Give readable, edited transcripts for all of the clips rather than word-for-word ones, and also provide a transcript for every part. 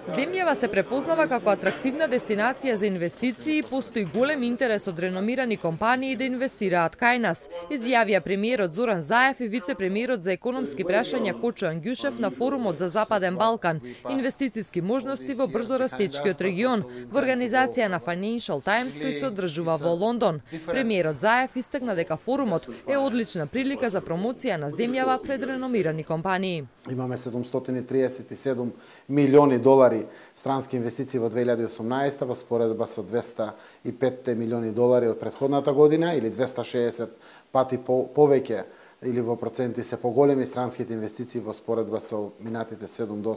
Земјава се препознава како атрактивна дестинација за инвестиции и постои голем интерес од реномирани компании да инвестираат кај нас, изјавија премиерот Зоран Заев и вице-премиерот за економски прашања Кочо Ангјушев на форумот за Западен Балкан, инвестициски можности во брзо растечкиот регион, во организација на Financial Times кој се одржува во Лондон. Премиерот Заев истакна дека форумот е одлична прилика за промоција на земјава пред реномирани компании. Имаме 737 милиони долари странски инвестиции во 2018 во споредба со 205 милиони долари од претходната година или 260 пати повеќе или во проценти се поголеми странските инвестиции во споредба со минатите 7 до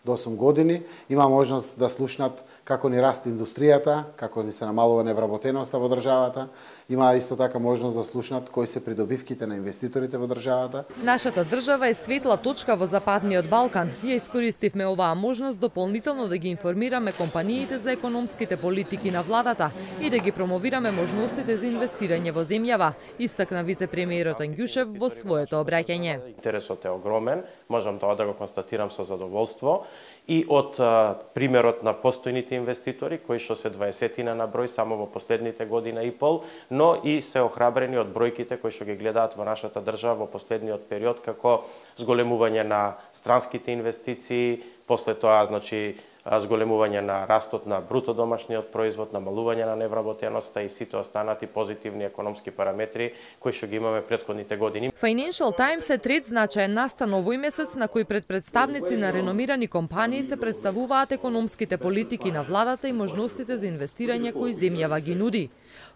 8 години. Има можност да слушнат како ни расте индустријата, како ни се намалува невработеноста во државата. Има исто така можност да слушнат кои се придобивките на инвеститорите во државата. Нашата држава е светла точка во Западниот Балкан. Ја искористивме оваа можност дополнително да ги информираме компаниите за економските политики на владата и да ги промовираме можностите за инвестирање во земјава, истакна вице-премиерот Ангјушев во своето обраќање. Интересот е огромен, можам тоа да го констатирам со задоволство. И од примерот на постојните инвеститори, кои што се 20 на број само во последните година и пол, но и се охрабрени од бројките кои што ги гледаат во нашата држава во последниот период, како зголемување на странските инвестиции, после тоа, значи, зголемување на растот на бруто домашниот производ, намалување на невработеноста и сите останати позитивни економски параметри кои што ги имаме претходните години. Financial Times е трет значаен настан овој месец на кој пред представници на реномирани компании се представуваат економските политики на владата и можностите за инвестирање кои земјава ги нуди.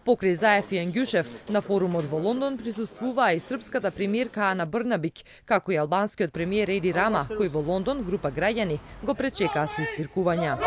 Покрај Заев и Ангјушев, на форумот во Лондон присуствуваа и српската премиерка Ана Брнабик, како и албанскиот премиер Еди Рама, кој во Лондон група граѓани го пречекаа со извиркувања.